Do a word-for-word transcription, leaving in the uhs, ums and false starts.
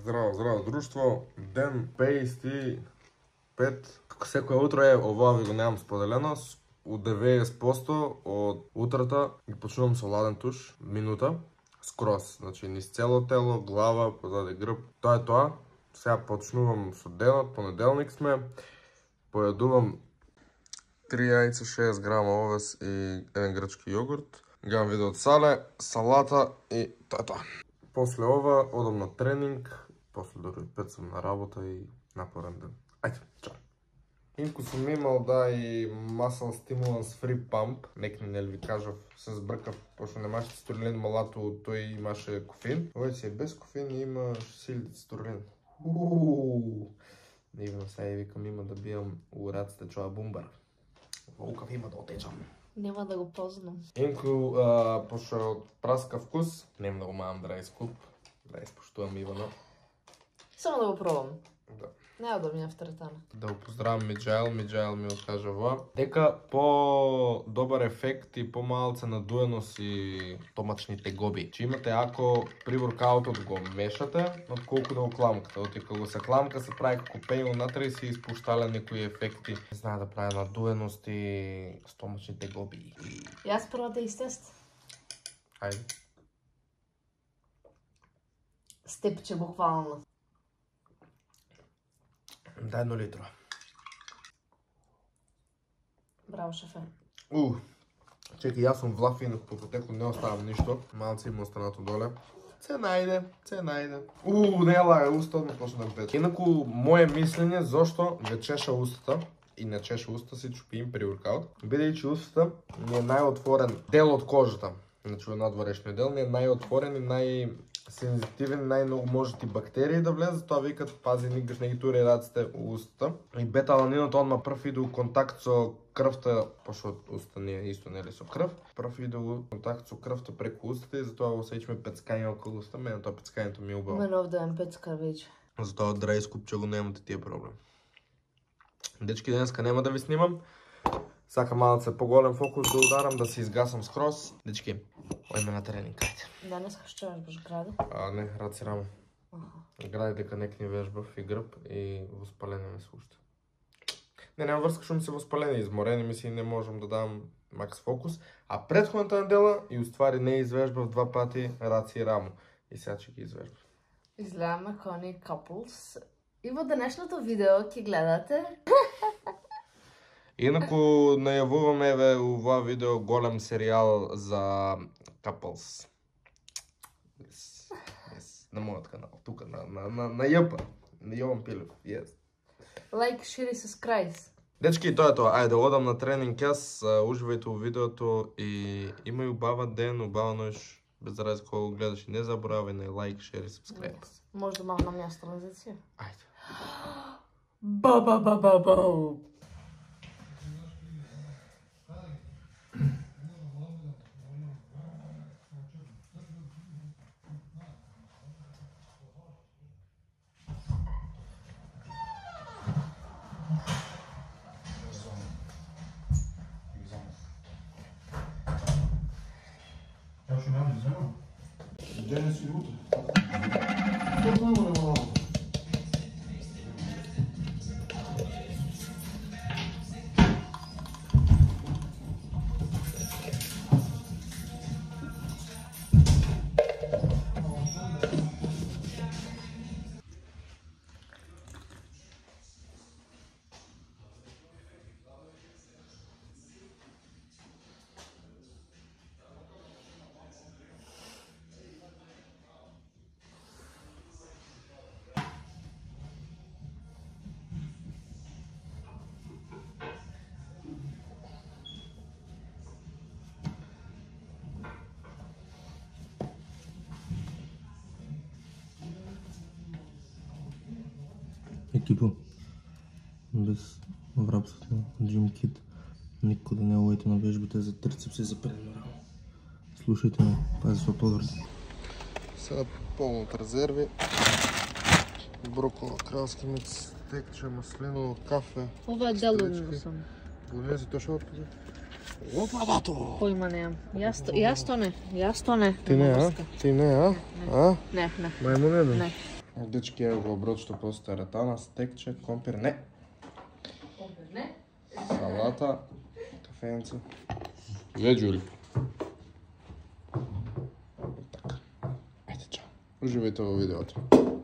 Здраво, здраво друштво. Ден петдесет и пет. Како секој утро е, ова ви го немам споделено. У деветдесет проценти од утрата ги почнувам со ладен туш, минута, скроз. Значи, низ цело тело, глава, позади грб. Тоа е тоа. Сега почнувам со денот, понеделник сме. Појадувам три јајца, шест грама овес и еден грчки јогурт. Гледам видео од Сале, салата и тоа е тоа. После ова одам на тренинг, после дори пет сум на работа и напорен ден. Ајде, чао. Инку сум имал да и Muscle Stimulants Free Pump, некни нели ви кажав, се збркав, пошто немаше цитурилин малато, тој имаше кофеин. Овој си е без кофеин и има силите цитурилин. Ууу, дивно, сега викам има да бијам у раците чоја бумбар. Волкав има да отечам. Нема да го познам. Инку, пошто е од праска вкус, нема да го маам да рајскуп, да испоштувам Ивано. Само да го пробам. Да. Нема да ми е втретана. Да го поздравам Миджаел, Миджаел ми откажа ова. Дека по добар ефект и помалце надуеност и томачни тегоби. Че имате ако при воркаутот го мешате, отколку да го кламкате. Оти кога се кламка се прави како пејл натре и се испуштале некои ефекти. Не знае да прави надуеност и стомачни тегоби. Јас прво да истест. Ајде. Степче буквално. Да, едно литро. Браво, шефе. У, чеки, јас сум влафин, по потеку не оставам ништо. Малци има останато доле. Се најде, се најде. У, не лага, уста одма почна да пече. Инаку, моје мислење зошто ве чеша устата и не чеша уста си чупим при воркаут, бидејќи устата ни е најотворен дел од кожата. Значи, надворешниот дел ни е најотворен и нај сензитивен, најмногу можат и бактерии да влезат, тоа викат пази никогаш не ги тури раците у устата. И бета-аланинот одма прв иде у контакт со крвта, пошто уста не е исто нели со крв, прв иде у контакт со крвта преку устата и затоа го осеќаме пецкање околу уста, мене тоа пецкањето ми е убаво. Мене овде е пецка веќе. Затоа од рајскупче го немате тие проблем. Дечки, денеска нема да ви снимам. Сакам малце поголем фокус да ударам, да се изгасам скроз. Дечки, ојме на тренинг, ајде. Денес што вежбаш граде? А, не, раци рамо. Гради дека некни вежбав и грб и воспаление ме слушате. Не, нема врска што ми се воспаление, изморени ми се и не можам да дам макс фокус. А предходната недела и уствари не извежбав два пати раци и рамо. И сега ќе ги извежбав. Изгледаме кони couples. И во денешното видео ќе гледате. Инаку најавуваме еве ова видео голем серијал за couples. Yes. Yes. На мојот канал, тука на на на на Јапа, на Јован Пилев. Yes. Лайк, шир и сабскрајб. Дечки, тоа е тоа. Ајде, одам на тренинг јас, уживајте во видеото и имај убава ден, убава ноќ. Без разлика кога гледаш и не заборавај на лайк, шер и сабскрајб. Yes. Може да махнам јас транзиција. Ајде. Ба ба ба ба ба. Денес и утре. Какво има на малко? Екипа, без врапството на Джим Кит, никога да не овојте на вежбите за трицепси и за предно рамо. Слушајте ме, пази со подврди. Сега полно од резерви. Брокола, кралски микс, текче, маслиново, кафе. Ова е делудно сум. Болези тоа што отпади? Опа, бато! Појма немам. Јас јас то не, јас то не. Ти не, а? Ти не, а? А? Не, не. Мајмун еден? Не. Дечки, ево го оброд што постои ретана, стекче, компир, не. Компир, не. Салата, кафенце. Веđули. Така. Ајде, чао. Уживајте во видеото.